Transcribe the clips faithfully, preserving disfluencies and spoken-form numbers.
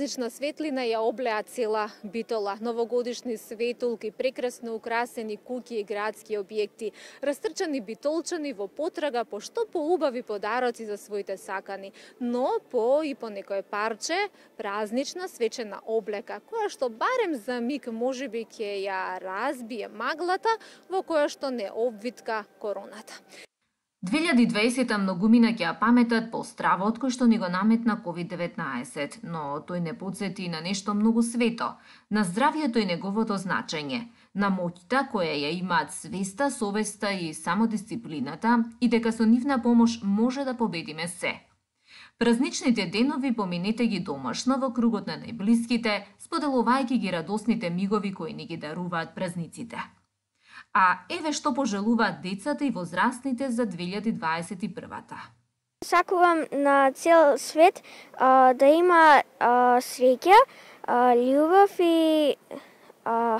празнична светлина ја облеа цела Битола. Новогодишни светулки, прекрасно украсени куќи и градски објекти, растрчани битолчани во потрага по што поубави подароци за своите сакани, но по и по некое парче празнична свечена облека, која што барем за миг можеби ќе ја разбие маглата во која што не обвитка короната. две илјади и дваесета многумина ќе ја паметат по стравот кој што ни го наметна ковид деветнаесет, но тој не подсети на нешто многу свето, на здравието и неговото значење, на моќта која ја имаат свеста, совеста и самодисциплината и дека со нивна помош може да победиме се. Празничните денови поминете ги домашно во кругот на најблиските, споделувајќи ги радосните мигови кои ни ги даруваат празниците. А еве што пожелуваат децата и возрастните за две илјади дваесет и првата. Сакувам на цел свет а, да има а, среќа, а, љубов и а,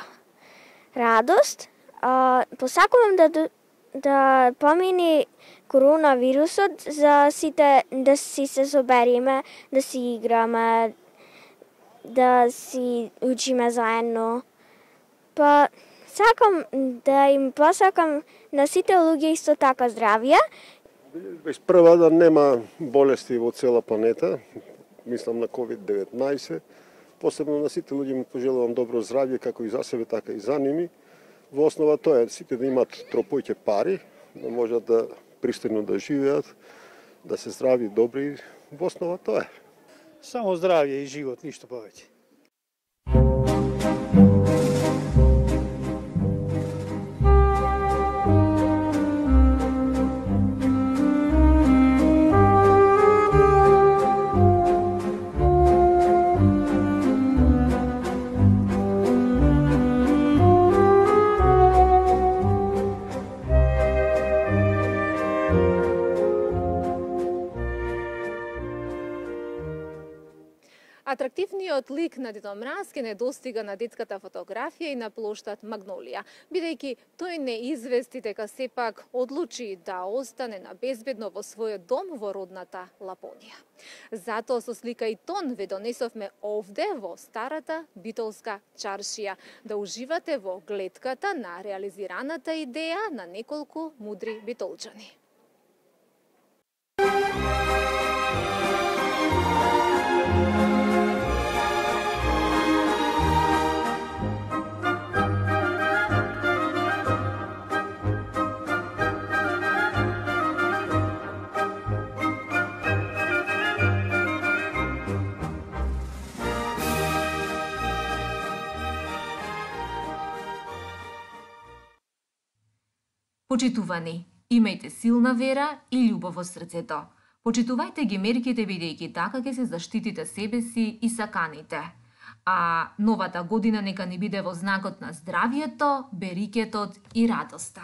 радост. А, посакувам да да помини коронавирусот за сите да си се собериме, да си играме, да си учиме заедно. Па сакам да им посакам на сите луѓе исто така здравје. Без прва да нема болести во цела планета, мислам на ковид деветнаесет. Посебно на сите луѓе им пожелувам добро здравје, како и за себе, така и за ними. Во основа тоа е сите да имат тропојќе пари, да можат да пристојно да живеат, да се здрави и добри. Во основа тоа е. Само здравје и живот, ништо повеќе. Атрактивниот лик на Дедо Мраз ке не достига на детската фотографија и на плоштад Магнолија, бидејќи тој не извести дека сепак одлучи да остане на безбедно во својот дом во родната Лапонија. Затоа со слика и тон ве донесовме овде во старата битолска чаршија, да уживате во гледката на реализираната идеја на неколку мудри битолчани. Почитувани, имајте силна вера и љубов во срцето. Почитувајте ги мерките бидејќи така ќе се заштитите себе си и саканите. А новата година нека ни биде во знакот на здравието, берикетот и радоста.